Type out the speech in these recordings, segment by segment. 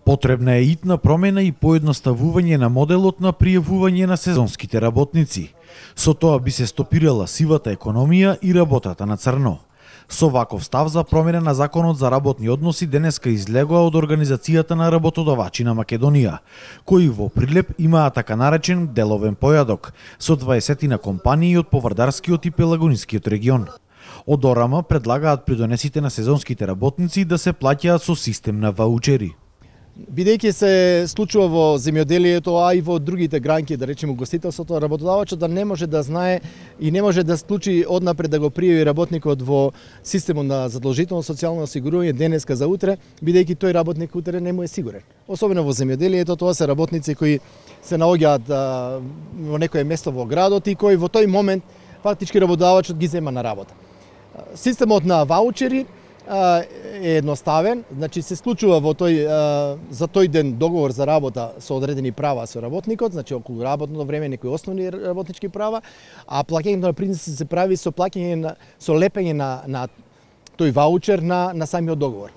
Потребна е итна промена и поедноставување на моделот на пријавување на сезонските работници. Со тоа би се стопирала сивата економија и работата на црно. Со ваков став за промена на Законот за работни односи денеска излегоа од Организацијата на работодавачи на Македонија, кои во прилеп имаат така наречен деловен појадок со 20 компании од Повардарскиот и Пелагонискиот регион. Од ОРАМ предлагаат придонесите на сезонските работници да се плаќаат со систем на ваучери. Бидејќи се случува во земјоделието, а и во другите гранки, да речеме гостителството, работодавачот да не може да знае и не може да случи однапред да го пријави работникот во системот на задолжително социјално осигурување денеска за утре, бидејќи тој работник утре не му е сигурен. Особено во земјоделието, тоа се работници кои се наоѓаат во некое место во градот и кои во тој момент фактички работодавачот ги зема на работа. Системот на ваучери е едноставен, значи се склучува во за тој ден договор за работа со одредени права со работникот, значи околу работното време некои основни работнички права, а плаќањето на принцип се прави со плаќање со лепење на тој ваучер на самиот договор.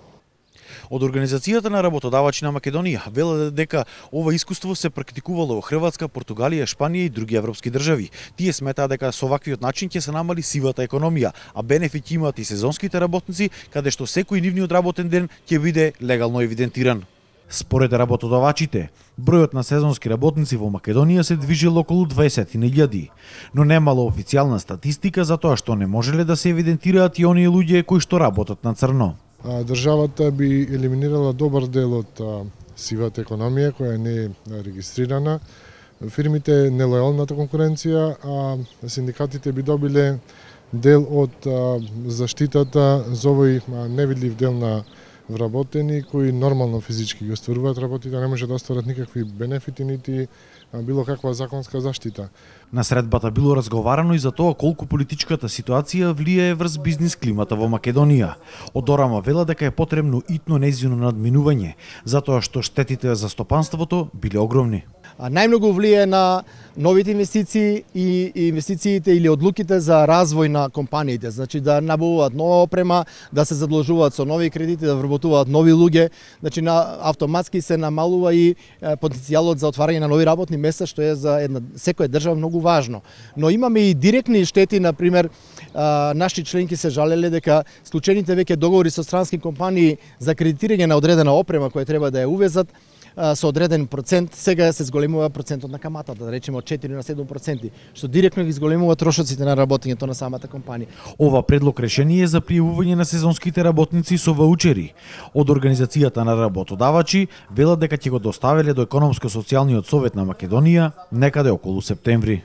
Од Организацијата на работодавачи на Македонија велат дека ова искуство се практикувало во Хрватска, Португалија, Шпанија и други европски држави. Тие сметаат дека со ваквиот начин ќе се намали сивата економија, а бенефит имаат и сезонските работници, каде што секој нивниот работен ден ќе биде легално евидентиран. Според работодавачите, бројот на сезонски работници во Македонија се движел околу 20.000, но немало официјална статистика за тоа што не можеле да се евидентираат и оние луѓе кои што работат на црно. Државата би елиминирала добар дел од сивата економија која не е регистрирана, фирмите нелојалната конкуренција, а синдикатите би добиле дел од заштитата за овој невидлив дел на вработени кои нормално физички ги остваруваат работите, не може да остварат никакви бенефити нити било каква законска заштита. На средбата било разговарано и за тоа колку политичката ситуација влијае врз бизнис климата во Македонија. Од ОРАМ вела дека е потребно итно нејзино надминување, затоа што штетите за стопанството биле огромни. Најмногу влијае на новите инвестиции и инвестициите или одлуките за развој на компаниите, значи да набавуваат нова опрема, да се задолжуваат со нови кредити, да вработуваат нови луѓе, значи автоматски се намалува и потенцијалот за отварање на нови работни места, што е за секоја држава многу важно. Но имаме и директни штети, например, наши членки се жалеле дека склучените веќе договори со странски компании за кредитирање на одредена опрема која треба да ја увезат со одреден процент, сега се зголемува процентот на каматата, да речеме од 4 на 7%, што директно ги зголемува трошоците на работењето на самата компанија. Ова предлог решение за пријавување на сезонските работници со ваучери од Организацијата на работодавачи велат дека ќе го доставеле до Економско-социјалниот совет на Македонија некаде околу септември.